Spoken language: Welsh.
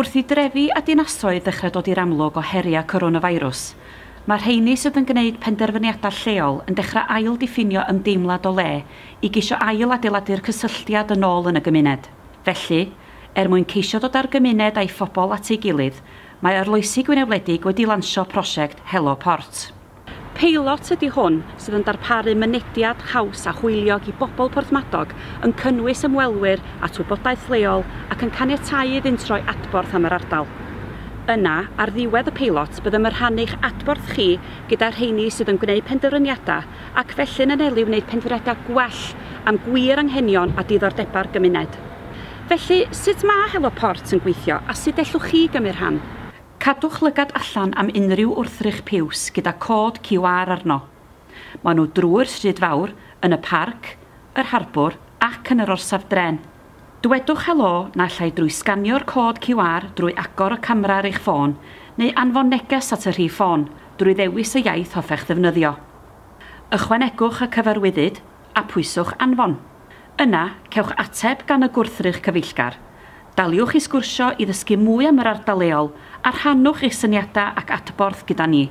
Wrth i drefi a dinasoedd ddechrau dod i'r amlwg o heriau coronavirus, mae'r rheini sydd yn gwneud penderfyniadau lleol yn dechrau ail-diffinio ymdeimlad o le i geisio ail-adeiladu'r cysylltiad yn ôl yn y gymuned. Felly, er mwyn ceisio dod â'r gymuned a'i phobl at ei gilydd, mae Arloesi Gwynedd Wledig wedi lansio prosiect Helo Port. Peilot ydy hwn sydd yn darparu mynediad haws a hwyliog i bobl Porthmadog, yn cynnwys ymwelwyr at wybodaeth leol ac yn caniatáu iddynt roi adborth am yr ardal. Yna, ar ddiwedd y peilot, byddem yn rhannu'ch adborth chi gyda'r rheini sydd yn gwneud penderfyniadau ac felly'n anelu wneud penderfyniadau gwell am gwir anghenion a diddordebau'r gymuned. Felly, sut mae Helo Port yn gweithio a sut ellwch chi gymryd rhan? Cadwch lygad allan am unrhyw wrthrych piws gyda cod QR arno. Maen nhw drwy'r stryd fawr, yn y parc, yr harbwr ac yn yr orsaf dren. Dwedwch helo naill ai drwy sganio'r cod QR drwy agor y camera ar eich ffôn neu anfon neges at y rhif ffôn drwy ddewis y iaith hoffech ddefnyddio. Ychwanegwch y cyfarwyddyd a pwyswch anfon. Yna, cewch ateb gan y gwrthrych cyfeillgar. Daliwch i sgwrsio i ddysgu mwy am yr ardal leol a rhannwch eich syniadau ac adborth gyda ni.